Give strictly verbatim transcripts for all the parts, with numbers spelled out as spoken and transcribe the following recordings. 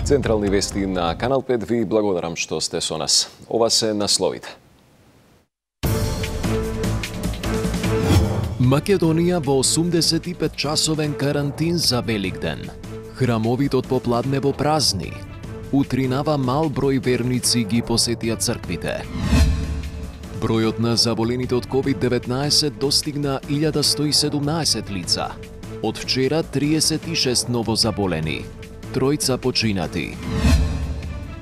Централни вести на Канал пет ви благодарам што сте со нас. Ова се насловите. Македонија во осумдесет и пет часовен карантин за Великден. Храмовитот попладнево празни. Утринава мал број верници ги посетија црквите. Бројот на заболените од ковид деветнаесет достигна илјада сто и седумнаесет лица. Од вчера триесет и шест ново заболени. Тројца починати.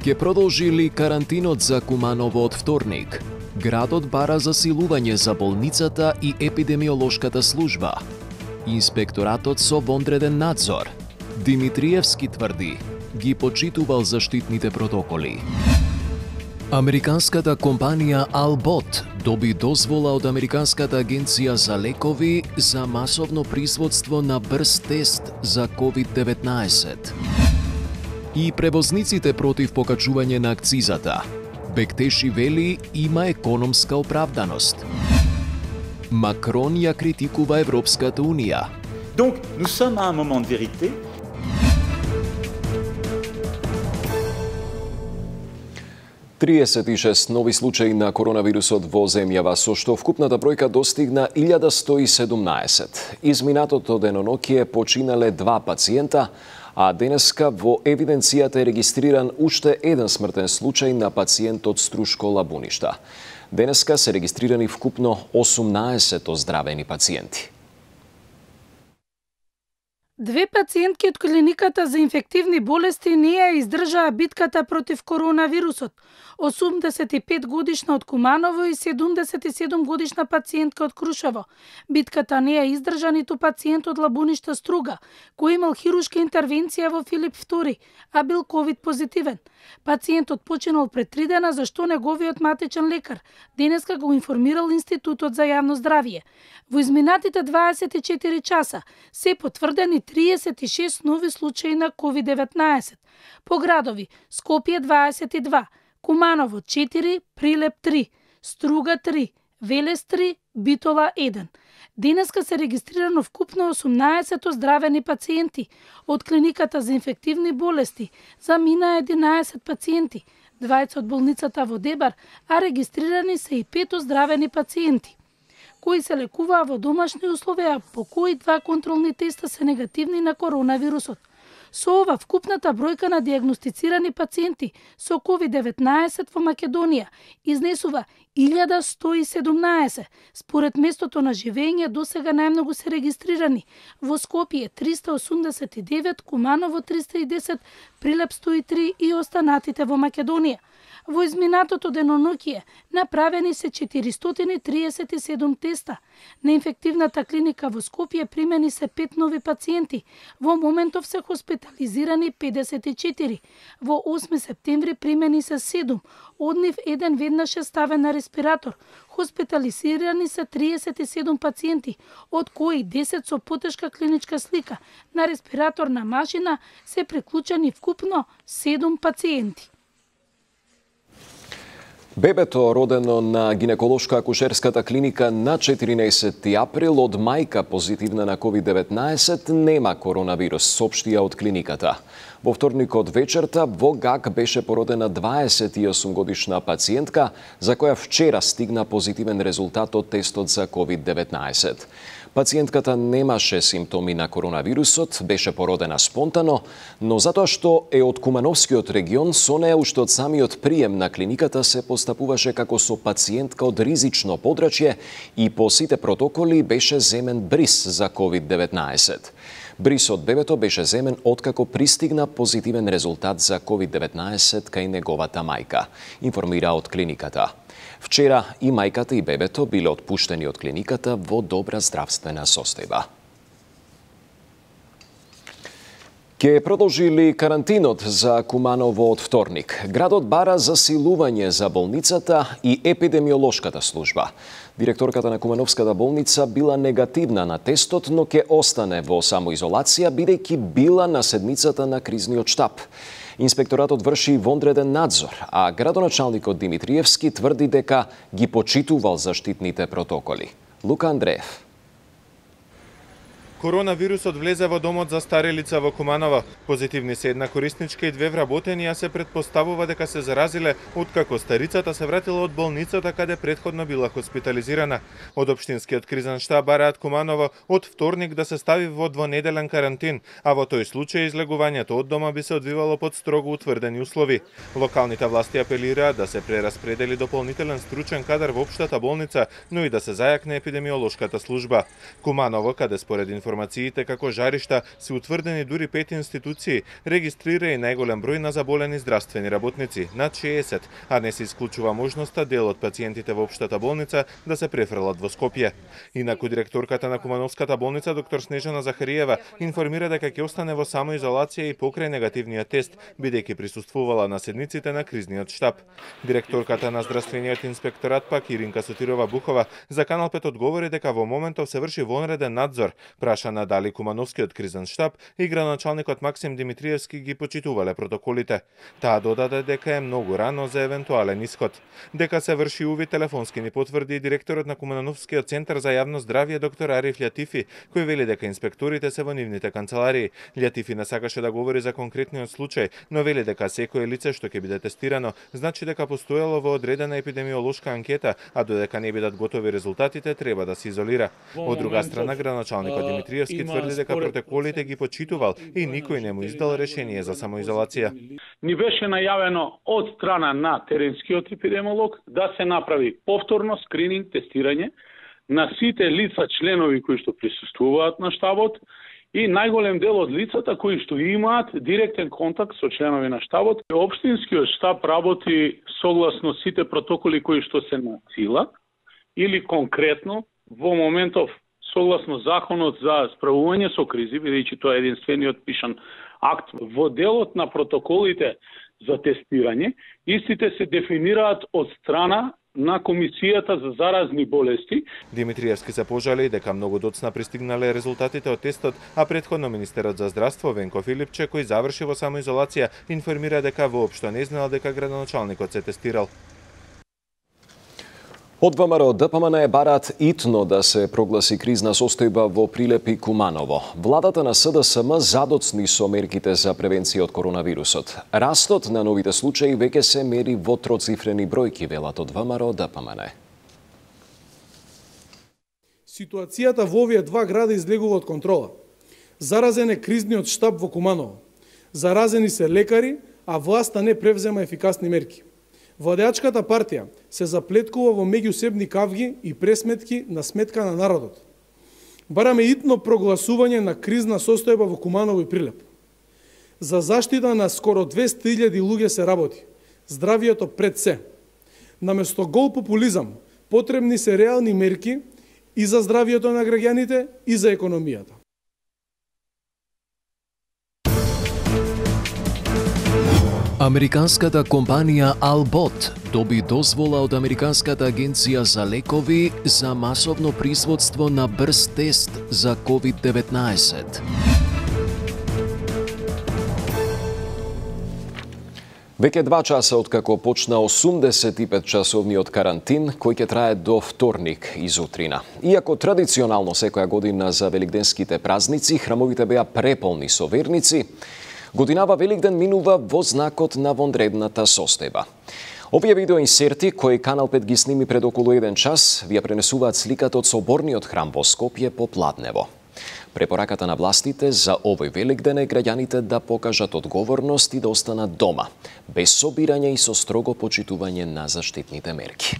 Ке продолжи ли карантинот за Куманово од вторник? Градот бара засилување за болницата и епидемиолошката служба. Инспекторатот со вонреден надзор. Димитриевски тврди, ги почитувал заштитните протоколи. Американската компанија Albot доби дозвола од Американската агенција за лекови за масовно производство на брз тест за ковид деветнаесет. И превозниците против покачување на акцизата. Бектеши вели има економска оправданост. Макрон ја критикува Европската унија. Donc, nous sommes à un moment de vérité. триесет и шест нови случаи на коронавирусот во земјава, со што вкупната бројка достигна илјада сто и седумнаесет. Изминатото денонокие починале два пациента, а денеска во евиденцијата е регистриран уште еден смртен случај на пациент од Струшко Лабуништа. Денеска се регистрирани вкупно осумнаесет оздравени пациенти. Две пациентки од клиниката за инфективни болести не ја издржаа битката против коронавирусот. осумдесет и пет годишна од Куманово и седумдесет и седум годишна пациентка од Крушево. Битката не ја издржа ниту пациент од Лабуништа Струга, кој имал хируршка интервенција во Филип втори, а бил ковид позитивен. Пациентот починал пред три дена, зашто неговиот матичен лекар денеска го информирал Институтот за јавно здравје. Во изминатите дваесет и четири часа се потврдени триесет и шест нови случаи на ковид деветнаесет. По градови: Скопје дваесет и два, Куманово четири, Прилеп три, Струга три, Велес три, Битола еден. Денеска се регистрирано вкупно осумнаесет оздравени пациенти. Од клиниката за инфективни болести замина единаесет пациенти, двајца од болницата во Дебар, а регистрирани се и пет оздравени пациенти, кои се лекуваа во домашни условија, по кои два контролни теста се негативни на коронавирусот. Со ова, вкупната бројка на диагностицирани пациенти со ковид деветнаесет во Македонија изнесува илјада сто и седумнаесет. Според местото на живење, досега најмногу се регистрирани во Скопје триста осумдесет и девет, Куманово триста и десет, Прилеп сто и три и останатите во Македонија. Во изминатото денонокие направени се четиристотини и триесет и седум теста. На инфективната клиника во Скопје примени се пет нови пациенти. Во моментов се хоспитализирани педесет и четири. Во осми септември примени се седум. Од нив еден веднаш е ставен на респиратор. Хоспитализирани се триесет и седум пациенти, од кои десет со потешка клиничка слика. На респираторна машина се приклучени вкупно седум пациенти. Бебето, родено на гинеколошко-акушерската клиника на четиринаесети април од мајка позитивна на ковид деветнаесет, нема коронавирус, соопштија од клиниката. Во вторникот вечерта во ГАК беше породена дваесет и осум годишна пациентка, за која вчера стигна позитивен резултат од тестот за ковид деветнаесет. Пациентката немаше симптоми на коронавирусот, беше породена спонтано, но затоа што е од Кумановскиот регион, со неја уште од самиот прием на клиниката се постапуваше како со пациентка од ризично подрачје и по сите протоколи беше земен бриз за ковид деветнаесет. Бриз од бебето беше земен откако пристигна позитивен резултат за ковид деветнаесет кај неговата мајка, информира од клиниката. Вчера и мајката и бебето биле отпуштени од клиниката во добра здравствена состојба. Ке продолжи ли карантинот за Куманово од вторник? Градот бара засилување за болницата и епидемиолошката служба. Директорката на Кумановската болница била негативна на тестот, но ке остане во самоизолација, бидејќи била на седмицата на кризниот штаб. Инспекторатот врши вонреден надзор, а градоначалникот Димитриевски тврди дека ги почитувал заштитните протоколи. Лука Андреев. Коронавирусот влезе во домот за стари лица во Куманово. Позитивни се една корисничка и две вработени, а се предпоставува дека се заразиле откако старицата се вратила од болницата каде претходно била хоспитализирана. Од општинскиот кризен штаб бараат Куманово од вторник да се стави во двонеделен карантин, а во тој случај излегувањето од дома би се одвивало под строго утврдени услови. Локалните власти апелираат да се прераспредели дополнителен стручен кадар во општата болница, но и да се зајакне епидемиолошката служба. Куманово, каде според информациите како жаришта се утврдени дури пет институции, регистрира и најголем број на заболени здравствени работници, над шеесет, а не се исклучува можноста дел од пациентите во општата болница да се префрлат во Скопје. Инаку директорката на Кумановската болница доктор Снежана Захариева информира дека ќе остане во самоизолација и покрај негативниот тест, бидејќи присуствувала на седниците на кризниот штаб. Директорката на здравствениот инспекторат пак Иринка Сотирова Бухова за Канал пет одговори дека во моментов се врши вонреден надзор. Прашана дали Кумановскиот кризен штаб и градоначалникот Максим Димитриевски ги почитувале протоколите. Таа додаде дека е многу рано за евентуален исход. Дека се врши увид телефонски ни потврди директорот на Кумановскиот центар за јавно здравје доктор Ариф Лјатифи, кој вели дека инспекторите се во нивните канцеларии. Лјатифи не сакаше да говори за конкретниот случај, но вели дека секое лице што ќе биде тестирано, значи дека постоело во одредена епидемиолошка анкета, а додека не бидат готови резултатите, треба да се изолира. Од друга страна, градоначалникот Димитриевски тврди дека протоколите ги почитувал и никој не му издал решение за самоизолација. Ни беше најавено од страна на теренскиот епидемиолог да се направи повторно скрининг, тестирање на сите лица членови кои што присуствуваат на штабот и најголем дел од лицата кои што имаат директен контакт со членови на штабот. Општинскиот штаб работи согласно сите протоколи кои што се на сила или конкретно во моментов согласно законот за справување со кризи, бидејќи тоа е единствениот пишан акт во делот на протоколите за тестирање, истите се дефинираат од страна на Комисијата за заразни болести. Димитриевски се пожали дека многу доцна пристигнале резултатите од тестот, а претходно министерот за здравство Венко Филипче, кој заврши во самоизолација, информира дека воопшто не знаел дека градоначалникот се тестирал. Од ВМРО ДПМН бараат итно да се прогласи кризна состојба во Прилеп Куманово. Владата на СДСМ задоцни со мерките за превенција од коронавирусот. Растот на новите случаи веќе се мери во троцифрени бројки, велат од ВМРО ДПМН. Ситуацијата во овие два града излегува од контрола. Заразен е кризниот штаб во Куманово. Заразени се лекари, а власта не превзема ефикасни мерки. Владеачката партија се заплеткува во меѓусебни кавги и пресметки на сметка на народот. Бараме итно прогласување на кризна состојба во Куманово и Прилеп. За заштита на скоро двесте илјади луѓе се работи. Здравието пред се. Наместо гол популизам, потребни се реални мерки и за здравието на граѓаните и за економијата. Американската компанија Albot доби дозвола од Американската агенција за лекови за масовно производство на брз тест за ковид деветнаесет. Веќе два часа откако почна осумдесет и пет часовниот карантин, кој ќе трае до вторник изутрина. Иако традиционално секоја година за великденските празници храмовите беа преполни со верници, годинава Великден минува во знакот на вонредната состојба. Овие видеоинсерти, кои Канал пет ги сними пред околу еден час, ви ја пренесуваат сликата од соборниот храм во Скопје по Пладнево. Препораката на властите за овој Великден е граѓаните да покажат одговорност и да останат дома, без собирање и со строго почитување на заштитните мерки.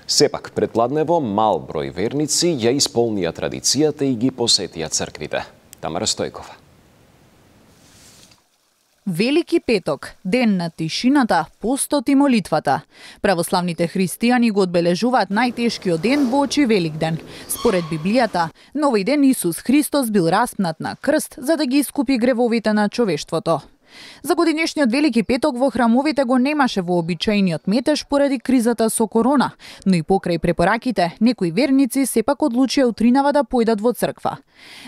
Сепак, пред Пладнево мал број верници ја исполнија традицијата и ги посетија црквите. Тамара Стојкова. Велики петок, ден на тишината, постот и молитвата. Православните христијани го одбележуваат најтешкиот ден во очи Великден. Според Библијата, на овој ден Исус Христос бил распнат на крст за да ги искупи гревовите на човештвото. За годинешниот Велики петок во храмовите го немаше вообичаениот метеж поради кризата со корона, но и покрај препораките, некои верници сепак одлучија утринава да појдат во црква.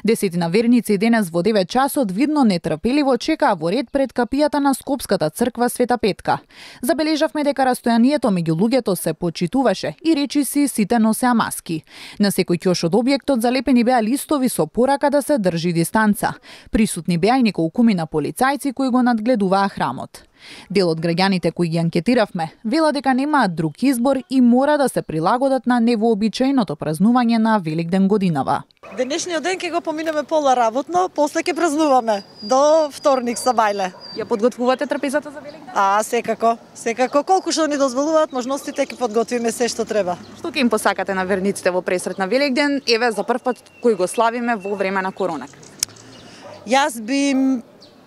Десетина верници денес во девет часот видно нетрпеливо чекаа во ред пред капијата на Скопската црква Света Петка. Забележавме дека растојанието меѓу луѓето се почитуваше и речиси сите носеа маски. На секој ќош од објектот залепени беа листови со порака да се држи дистанца. Присутни беа и неколкумина полицајци кои го надгледуваа храмот. Дел од граѓаните кои ги анкетиравме вела дека немаат друг избор и мора да се прилагодат на невообичаеното празнување на Великден годинава. Денешниот ден ќе го поминеме пола работно, после ќе празнуваме до вторник сабајле. Ја подготвувате трапезата за Великден? А, секако, секако колку што ни дозволуваат можностите ќе подготвиме се што треба. Што ќе им посакате на верниците во пресрет на Великден, еве за прв пат кој го славиме во време на корона? Јас би им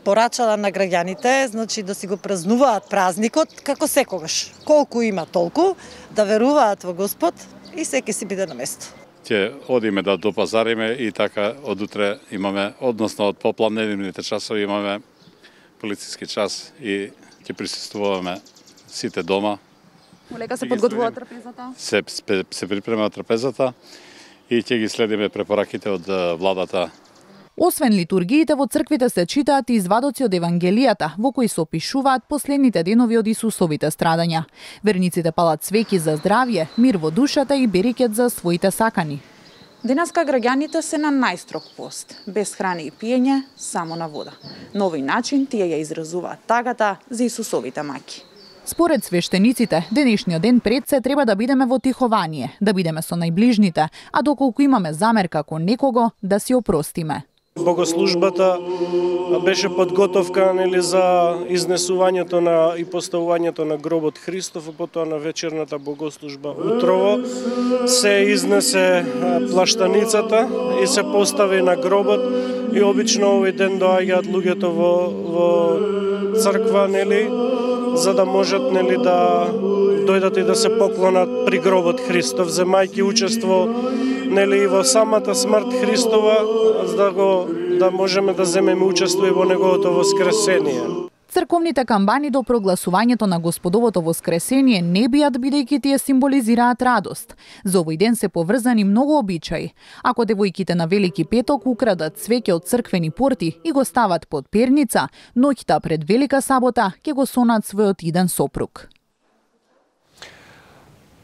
порачала на граѓаните, значи да си го празнуваат празникот како секогаш. Колку има толку, да веруваат во Господ и секој си биде на место. Ќе одиме да допазариме и така од утре имаме, односно од попладневните часови имаме полициски час и ќе присуствуваме сите дома. Олека се подготвува трапезата? Се, се припрема трапезата и ќе ги следиме препораките од владата. Освен литургиите во црквите се читаат и извадоци од Евангелијата, во кои се опишуваат последните денови од Исусовите страдања. Верниците палат свеќи за здравје, мир во душата и берекет за своите сакани. Денеска граѓаните се на најстрог пост, без храна и пиење, само на вода. На овој начин тие ја изразуваат тагата за Исусовите маки. Според свештениците, денешниот ден пред се треба да бидеме во тихование, да бидеме со најближните, а доколку имаме замерка кон некого, да си опростиме. Богослужбата беше подготовка нели за изнесувањето на и поставувањето на гробот Христов, а потоа на вечерната богослужба утрово се изнесе плаштаницата и се постави на гробот и обично овој ден доаѓаат луѓето во во црква нели за да можат нели да дојдат и да се поклонат при гробот Христов, земајќи учество нели во самата смрт Христова, за да го да можеме да земеме учество и во неговото воскресение. Црковните камбани до прогласувањето на Господовото воскресение не биат бидејќи тие символизираат радост. За овој ден се поврзани многу обичаи. Ако девојките на Велики петок украдат цвеќе од црквени порти и го стават под перница, ноќта пред Велика сабота ќе го сонат својот иден сопруг.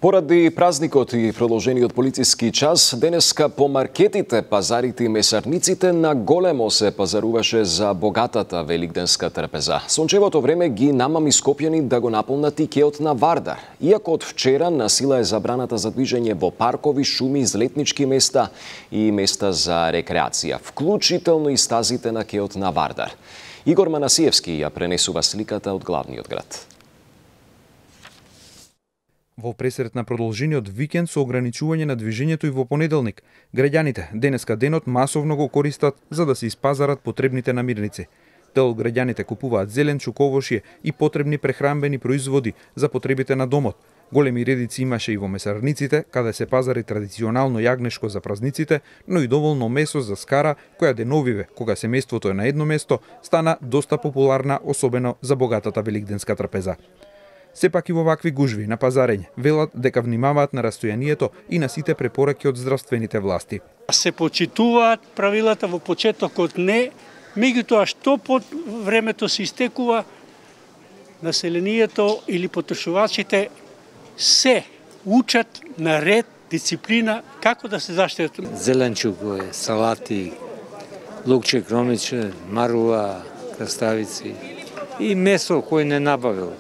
Поради празникот и продолжениот полициски час, денеска по маркетите, пазарите и месарниците на големо се пазаруваше за богатата великденска трпеза. Сончевото време ги намами Скопјани да го наполнат и кеот на Вардар. Иако од вчера на сила е забраната за движење во паркови, шуми, излетнички места и места за рекреација, вклучително и стазите на кеот на Вардар. Игор Манасиевски ја пренесува сликата од главниот град. Во пресрет на продолжениот викенд со ограничување на движењето и во понеделник, граѓаните денеска денот масовно го користат за да се испазарат потребните намирници. Дел од граѓаните купуваат зелен, чуковошје и потребни прехранбени производи за потребите на домот. Големи редици имаше и во месарниците, каде се пазари традиционално јагнешко за празниците, но и доволно месо за скара, која деновиве, кога семејството е на едно место, стана доста популарна, особено за богатата великденска трапеза. Сепак и во вакви гужви на пазарење велат дека внимаваат на растојанието и на сите препораки од здравствените власти. Се почитуваат правилата во почетокот не, меѓутоа што под времето се истекува, населението или потрошувачите се учат на ред, дисциплина, како да се заштитат. Зеленчукове, салати, лукче, кромиче, маруа, краставици и месо кој не набавил.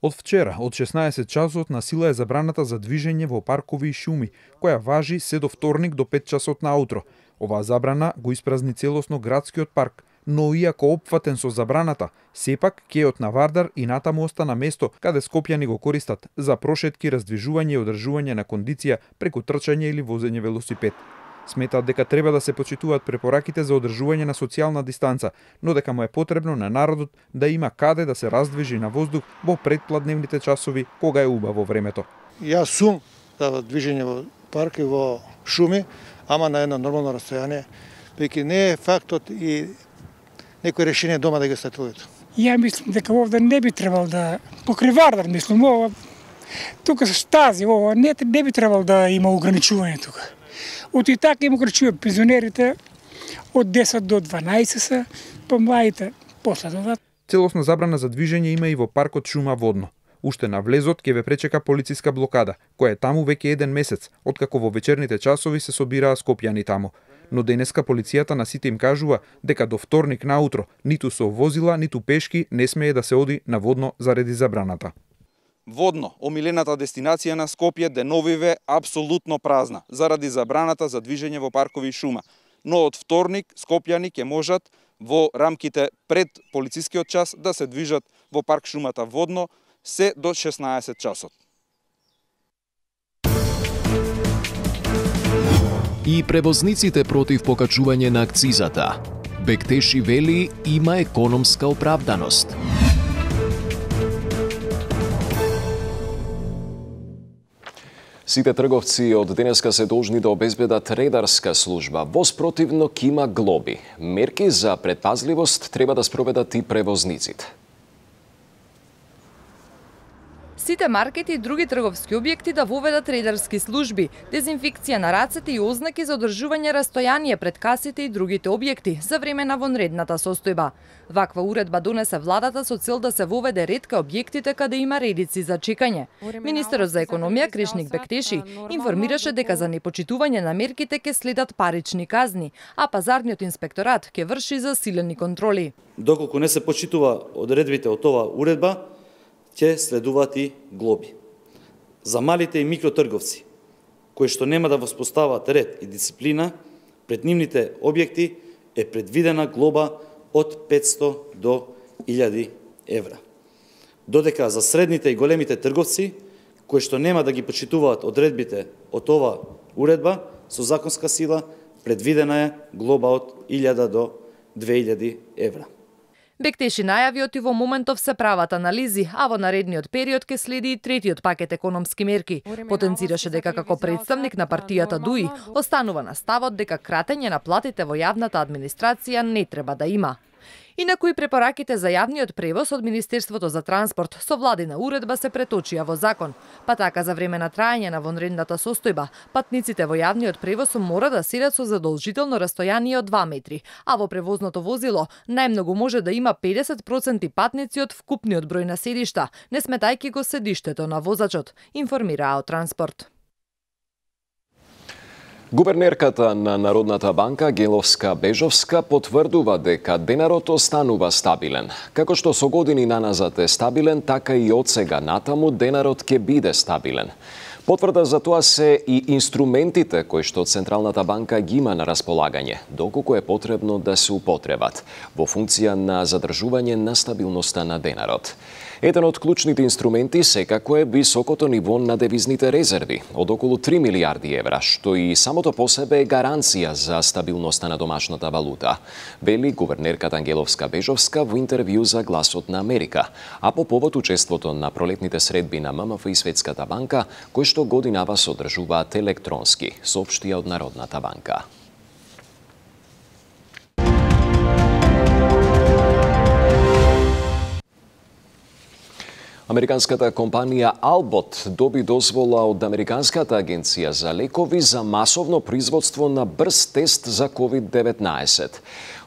Од вчера, од шеснаесет часот, на сила е забраната за движење во паркови и шуми, која важи се до вторник до пет часот наутро. Оваа забрана го испразни целосно градскиот парк, но иако опфатен со забраната, сепак кеот на Вардар и натаму остана место каде скопјани го користат за прошетки, раздвижување и одржување на кондиција преку трчање или возење велосипед. Сметаат дека треба да се почитуваат препораките за одржување на социјална дистанца, но дека му е потребно на народот да има каде да се раздвижи на воздух во предпладневните часови кога е убаво времето. Јас сум за движење во парк и во шуми, ама на едно нормално расстојание, веќе не е фактот и некој решение дома да ги стати луѓето. Ја мислам дека овде не би требало да покрај Вардар, мислам, ова тука со штази, ова не, не би требало да има ограничување тука. Од и така има ограничување пензионерите од десет до дванаесет се, па младите после додат. Целосна забрана за движење има и во паркот Шума Водно. Уште на влезот ќе ве пречека полициска блокада, која е таму веќе еден месец, откако во вечерните часови се собираа скопјани таму. Но денеска полицијата на сите им кажува дека до вторник наутро ниту со возила, ниту пешки не смее да се оди на Водно заради забраната. Водно, омилената дестинација на Скопје, деновиве апсолутно празна, заради забраната за движење во паркови Шума. Но од вторник скопјани ќе можат во рамките пред полицискиот час да се движат во парк Шумата Водно се до шеснаесет часот. И превозниците против покачување на акцизата. Бектеши вели има економска оправданост. Сите трговци од денеска се должни да обезбедат редарска служба. Во спротивно ќе има глоби. Мерки за предпазливост треба да спроведат и превозниците. Сите маркети и други трговски објекти да воведат редарски служби, дезинфекција на рацете и ознаки за одржување растојание пред касите и другите објекти за време на вонредната состојба. Ваква уредба донесе владата со цел да се воведе ред кај објектите каде има редици за чекање. Министерот за економија Кришник Бектеши информираше дека за непочитување на мерките ќе следат парични казни, а пазарниот инспекторат ќе врши засилени контроли. Доколку не се почитува одредбите од оваа уредба, ќе следуваат и глоби. За малите и микротрговци, кои што нема да воспостават ред и дисциплина, пред нивните објекти е предвидена глоба од петсто до илјади евра. Додека за средните и големите трговци, кои што нема да ги почитуваат одредбите од оваа уредба, со законска сила предвидена е глоба од илјада до две илјади евра. Бектеши најави оти во моментов се прават анализи, а во наредниот период ќе следи и третиот пакет економски мерки. Потенцираше дека како представник на партијата ДУИ останува на ставот дека кратење на платите во јавната администрација не треба да има. Инаку и препораките за јавниот превоз од Министерството за транспорт со владина уредба се преточија во закон. Па така за време на трајање на вонредната состојба, патниците во јавниот превоз мора да седат со задолжително растојание од два метри, а во превозното возило најмногу може да има педесет проценти патници од вкупниот број на седишта, не сметајќи го седиштето на возачот, информира Транспорт. Гувернерката на Народната банка Геловска Бежовска потврдува дека денарот останува стабилен. Како што со години наназад е стабилен, така и од сега натаму денарот ќе биде стабилен. Потврда за тоа се и инструментите кои што Централната банка ги има на располагање, доколку е потребно да се употребат, во функција на задржување на стабилноста на денарот. Еден од клучните инструменти секако е високото ниво на девизните резерви од околу три милијарди евра, што и самото по себе е гаранција за стабилноста на домашната валута, вели гувернерката Ангеловска Бежовска во интервју за Гласот на Америка, а по повод учеството на пролетните средби на ММФ и Светската банка, кои што годинава се одржуваат електронски, соопштија од Народната банка. Американската компанија Albot доби дозвола од Американската агенција за лекови за масовно производство на брз тест за ковид деветнаесет.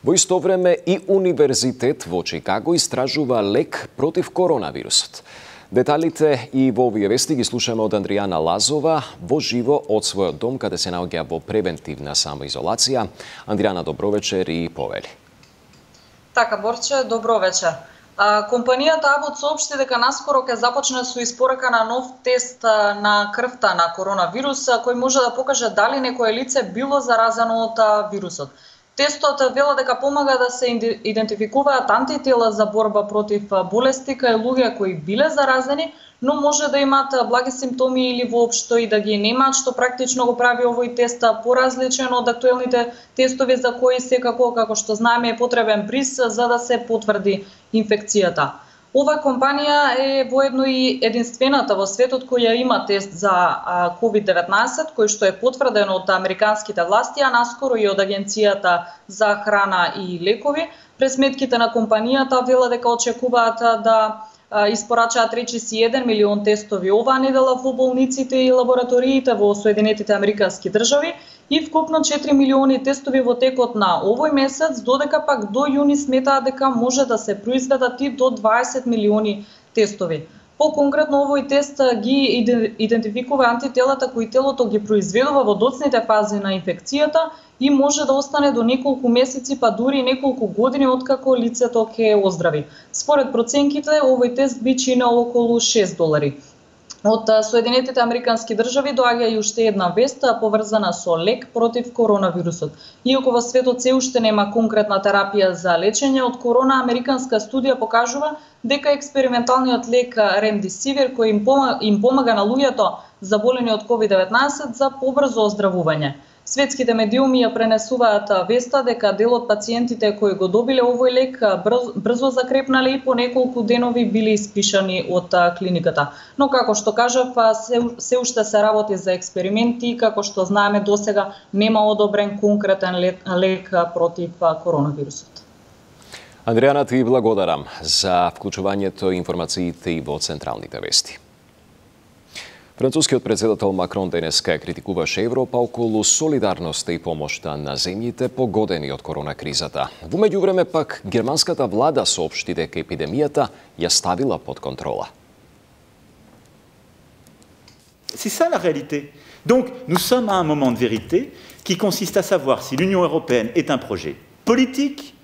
Во исто време и Универзитет во Чикаго истражува лек против коронавирусот. Деталите и во овие вести ги слушаме од Андријана Лазова во живо од својот дом, каде се наоѓа во превентивна самоизолација. Андријана, добро вечер и повели. Така, Борче, добро вечер. Компанијата Abbott соопшти дека наскоро ќе започне со испорака на нов тест на крвта на коронавирус, кој може да покаже дали некое лице било заразено од вирусот. Тестот вела дека помага да се идентификуваат антитела за борба против болести кај луѓе кои биле заразени, но може да имаат благи симптоми или воопшто и да ги немаат, што практично го прави овој тест поразличен од актуелните тестови за кои секако, како што знаеме, е потребен бриз за да се потврди инфекцијата. Ова компанија е воедно и единствената во светот која има тест за ковид деветнаесет, кој што е потврден од американските власти, а наскоро и од Агенцијата за храна и лекови. Пресметките на компанијата велат дека очекуваат да испорачаат речиси еден милион тестови оваа недела во болниците и лабораториите во Соединетите Американски држави и вкупно четири милиони тестови во текот на овој месец, додека пак до јуни сметаат дека може да се произведат и до дваесет милиони тестови. По-конкретно, овој тест ги идентификува антителата кои телото ги произведува во доцните фази на инфекцијата и може да остане до неколку месеци, па дури неколку години откако лицето ќе оздрави. Според проценките, овој тест би чинел околу шест долари. Од Соединетите Американски држави доаѓа и уште една вест поврзана со лек против коронавирусот. Иако во светот се уште нема конкретна терапија за лечење од корона, американска студија покажува дека експерименталниот лек Ремдесивир кој им помага, им помага на луѓето заболени од ковид деветнаесет за побрзо оздравување. Светските медиуми ја пренесуваат веста дека дел од пациентите кои го добиле овој лек брзо закрепнале и по неколку денови биле испишани од клиниката. Но како што кажав, се, се уште се работи за експерименти, како што знаеме досега нема одобрен конкретен лек, лек против коронавирусот. Андреана, ти благодарам за вклучувањето информациите и во централните вести. Францускиот председател Макрон денеска критикуваше Европа околу солидарноста и помошта на земјите погодени од коронакризата. Во меѓувреме пак германската влада соопшти дека епидемијата ја ставила под контрола. C'est ça la réalité. Donc nous sommes à un moment de vérité qui consiste à savoir si l'Union européenne est un projet politique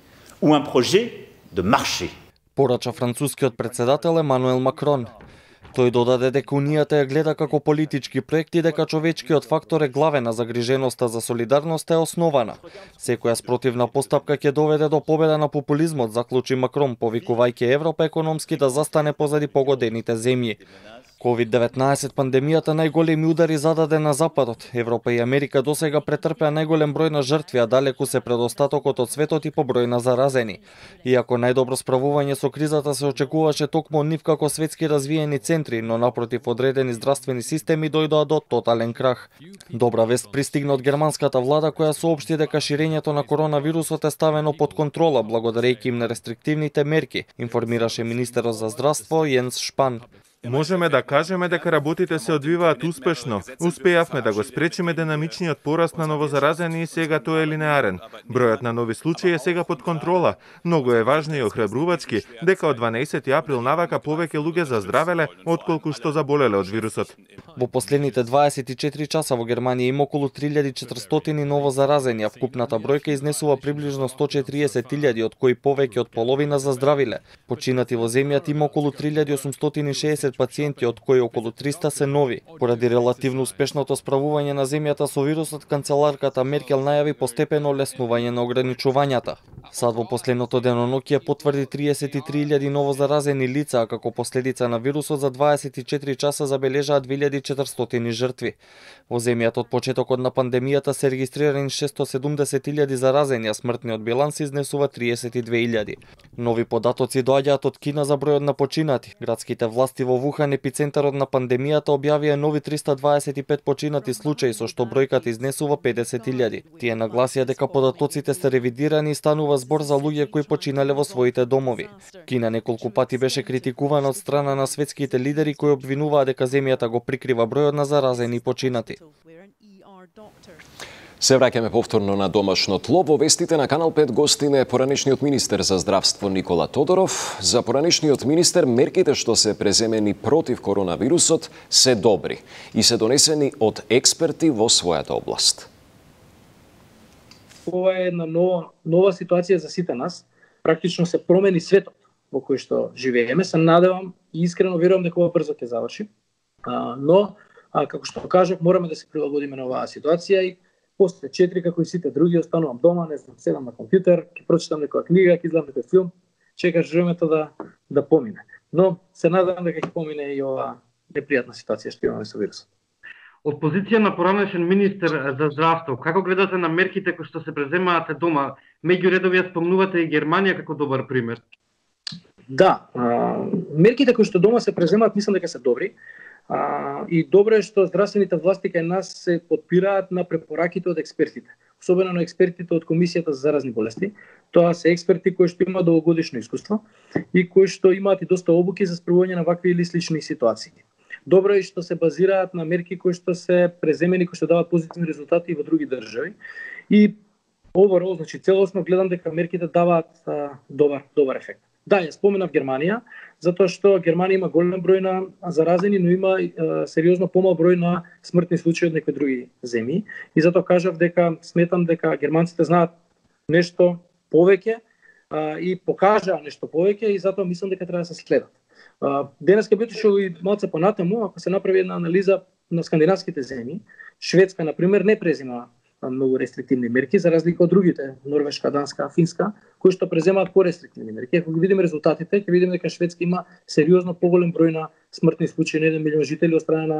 ou un projet de marché. Порача францускиот председател Емануел Макрон. Тој додаде дека Унијата ја гледа како политички проект и дека човечкиот фактор е главен, а загриженоста за солидарност е основана. Секоја спротивна постапка ќе доведе до победа на популизмот, заклучи Макрон, повикувајќи Европа економски да застане позади погодените земји. ковид деветнаесет пандемијата најголеми удари зададе на Западот. Европа и Америка досега претрпеа најголем број на жртви, а далеку се предостатокот од светот и по број на заразени. Иако најдобро справување со кризата се очекуваше токму од нив како светски развиени центри, но напротив одредени здравствени системи дојдоа до тотален крах. Добра вест пристигна од германската влада која соопшти дека ширењето на коронавирусот е ставено под контрола благодарејќи им на рестриктивните мерки, информираше министерот за здравство Јенс Шпан. Можеме да кажеме дека работите се одвиваат успешно. Успеавме да го спречиме динамичниот пораст на новозаразени и сега тој е линеарен. Бројот на нови случаи е сега под контрола. Многу е важно и охрабрувачки дека од дванаесети април навака повеќе луѓе заздравеле отколку што заболеле од вирусот. Во последните дваесет и четири часа во Германија има околу три илјади и четиристотини новозаразени, а вкупната бројка изнесува приближно сто четириесет илјади, од кои повеќе од половина заздравиле. Починати во земјата има околу три илјади осумстотини и шеесет пациенти, од кои околу триста се нови. Поради релативно успешното справување на земјата со вирусот, канцеларката Меркел најави постепено леснување на ограничувањата. САД во последното деноноќие потврди триесет и три илјади новозаразени лица, а како последица на вирусот за дваесет и четири часа забележаа две илјади и четиристотини жртви. Во земјата од почетокот на пандемијата се регистрирани шестстотини и седумдесет илјади заразени, а смртниот биланс изнесува триесет и две илјади. Нови податоци доаѓаат од Кина за бројот на починати. Градските власти во Вухан, епицентарот на пандемијата, објавија нови триста дваесет и пет починати случаи, со што бројката изнесува педесет илјади. Тие нагласија дека податоците се ревидирани и станува збор за луѓе кои починале во своите домови. Кина неколку пати беше критикувана од страна на светските лидери кои обвинуваа дека земјата го прикрива бројот на заразени и починати. Се враќаме повторно на домашно тло. Во вестите на Канал пет гостин е поранешниот министер за здравство Никола Тодоров. За поранешниот министер мерките што се преземени против коронавирусот се добри и се донесени од експерти во својата област. Ова е една нова, нова ситуација за сите нас. Практично се промени светот во кој што живееме. Се надевам и искрено верувам дека ова брзо ќе заврши. А, но, а, како што кажав, мораме да се прилагодиме на оваа ситуација и после четири, како и сите други, останувам дома, не знам, седам на компјутер, ќе прочитам некоја книга, ќе изгледам некој филм, чекаш времето да да помине. Но се надевам дека ќе помине и оваа непријатна ситуација што имаме со вирусот. Од позиција на поранешен министер за здравство, како гледате на мерките кои што се преземаат дома? Меѓу редови ја спомнувате и Германија како добар пример. Да, а, мерките кои што дома се преземаат мислам дека се добри. А, и добро е што здравствените власти кај нас се потпираат на препораките од експертите, особено на експертите од Комисијата за заразни болести. Тоа се експерти кои што имаат долгогодишно искуство и кои што имаат и доста обуки за справување на вакви или слични ситуации. Добро е што се базираат на мерки кои што се преземени, кои што даваат позитивни резултати и во други држави. И overall, значи целосно гледам дека мерките даваат а, добар добар ефект. Да, ја споменав Германија, затоа што Германија има голем број на заразени, но има е, сериозно помал број на смртни случаи од некои други земји. И затоа кажав дека сметам дека германците знаат нешто повеќе а, и покажаа нешто повеќе и затоа мислам дека треба да се следат. А, денеска би отишол и малце понатаму, ако се направи една анализа на скандинавските земји, Шведска на пример не презема многу рестриктивни мерки, за разлика од другите, Норвешка, Данска, Финска, кои што преземаат порестриктивни мерки. Ако ги видиме резултатите, ќе видиме дека Шведска има сериозно поголем број на смртни случаи на еден милион жители од страна на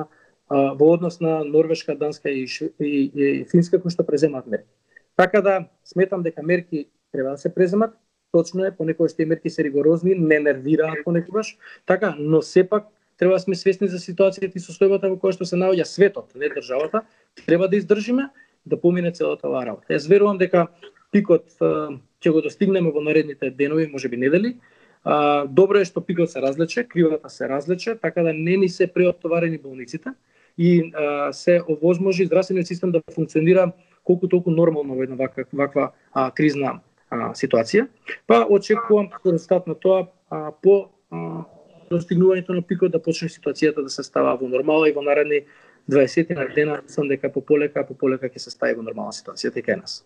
а, во однос на Норвешка, Данска и, и, и Финска кои што преземаат мерки. Така да сметам дека мерки треба да се преземат. Точно е, понекогаш тие мерки се ригорозни, не нервираат понекогаш, така, но сепак треба да сме свесни за ситуацијата и состојбата во која што се наоѓа светот, не државата. Треба да издржиме да помине целата оваа работа. Јас верувам дека пикот ќе го достигнеме во наредните денови, можеби недели. А, добро е што пикот се разлече, кривата се разлече, така да не ни се преоптоварени болниците и а, се овозможи здравствениот систем да функционира колку толку нормално во една ваква, ваква а, кризна а, ситуација. Па очекувам како резултат на тоа а, по а, достигнувањето на пикот да почне ситуацијата да се става во нормала и во наредни дваесет дена, сам дека по полека, по полека ќе се стави во нормална ситуација и кај нас.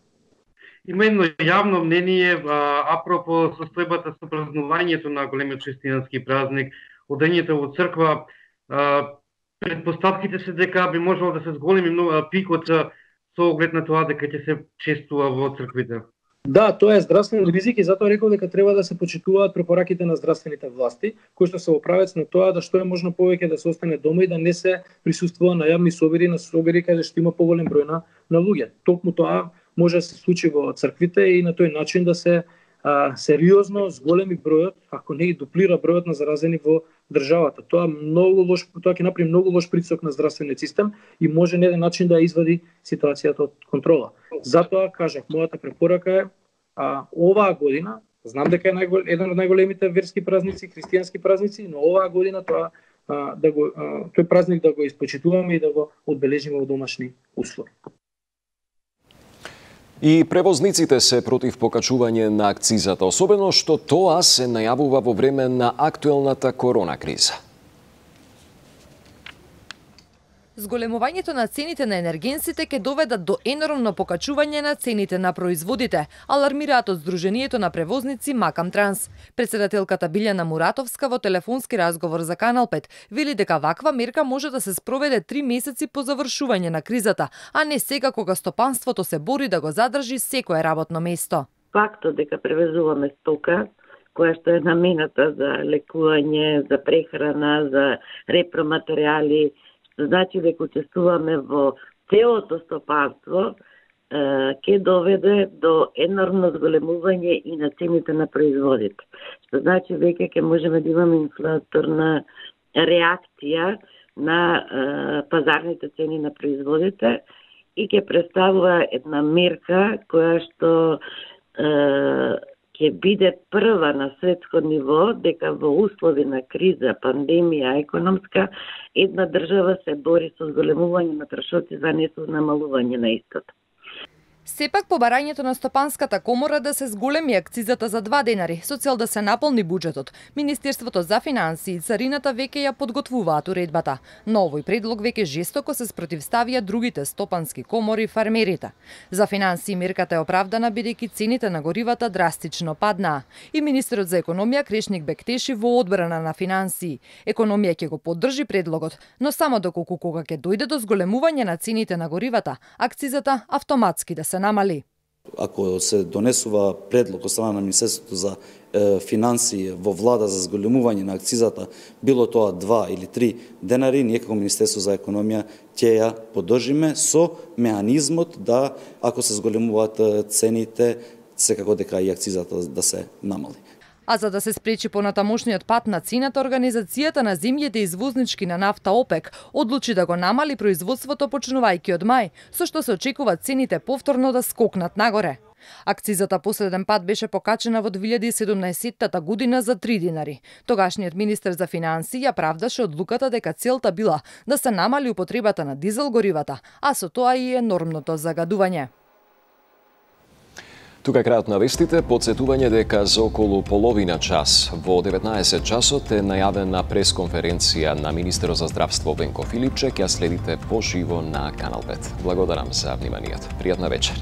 Има едно јавно мнение а, апропо состојбата со празнувањето на големиот христијански празник, одењето во црква. А, предпоставките се дека би можело да се зголеми многу пикот со оглед на тоа дека ќе се честува во црквите. Да, тоа е здравствен ризик и затоа рекол дека треба да се почитуваат препораките на здравствените власти, кои што се во правец на тоа да што е можно повеќе да се остане дома и да не се присуствува на јавни собери, на собери каде што има поголем број на, на луѓе. Токму тоа може да се случи во црквите и на тој начин да се а, сериозно зголеми бројот, ако не и дуплира бројот на заразени во државата. Тоа многу лош, тоа ќе направи многу лош притисок на здравствениот систем и може на еден начин да извади ситуацијата од контрола. Затоа кажав, мојата препорака е а, оваа година, знам дека е најгол, еден од најголемите верски празници, христијански празници, но оваа година тоа а, да го а, тој празник да го испочитуваме и да го одбележиме во домашни услови. И превозниците се против покачување на акцизата, особено што тоа се најавува во време на актуелната корона криза. Зголемувањето на цените на енергенсите ќе доведат до енормно покачување на цените на производите, алармираат од Сдруженијето на превозници Макам Транс. Председателката Билјана Муратовска во телефонски разговор за Канал пет вели дека ваква мерка може да се спроведе три месеци по завршување на кризата, а не сега кога стопанството се бори да го задржи секое работно место. Фактот дека превезуваме стока која што е намената за лекување, за прехрана, за репроматеријали, значи дека учествуваме во целото стопанство, ќе доведе до енормно зголемување и на цените на производите. Што значи веќе ќе можеме да имаме инфлаторна реакција на е, пазарните цени на производите и ќе представува една мерка која што е, ќе биде прва на светско ниво дека во услови на криза, пандемија, економска, една држава се бори со зголемување на трошоци за не со намалување на истото. Сепак побарањето на Стопанската комора да се зголеми акцизата за два денари со цел да се наполни буџетот. Министерството за финансии и царината веќе ја подготвуваат уредбата. Но овој предлог веќе жестоко се спротивставија другите стопански комори и фармерите. За финансии мерката е оправдана бидејќи цените на горивата драстично паднаа. И министерот за економија Крешник Бектеши во одбрана на финансии. Економија ќе го поддржи предлогот, но само доколку кога ќе дојде до зголемување на цените на горивата, акцизата автоматски да се намали. Ако се донесува предлог од страна на Министерството за е, финансии во влада за зголемување на акцизата, било тоа два или три денари, ние како Министерство за економија ќе ја поддржиме со меанизмот да, ако се зголемуваат цените, секако дека и акцизата да се намали. А за да се спречи понатамошниот пат на цената, Организацијата на земјите извознички на нафта ОПЕК одлучи да го намали производството почнувајќи од мај, со што се очекува цените повторно да скокнат нагоре. Акцизата последен пат беше покачена во две илјади и седумнаесетта година за три динари. Тогашниот министер за финансии ја правдаше одлуката дека целта била да се намали употребата на дизел горивата, а со тоа и енормното загадување. Тука е крајот на вестите. Подсетување дека за околу половина час во деветнаесет часот е најавена пресконференција на министерот за здравство Венко Филипчек. Ја следите поживо на Канал пет. Благодарам за вниманието. Пријатна вечер.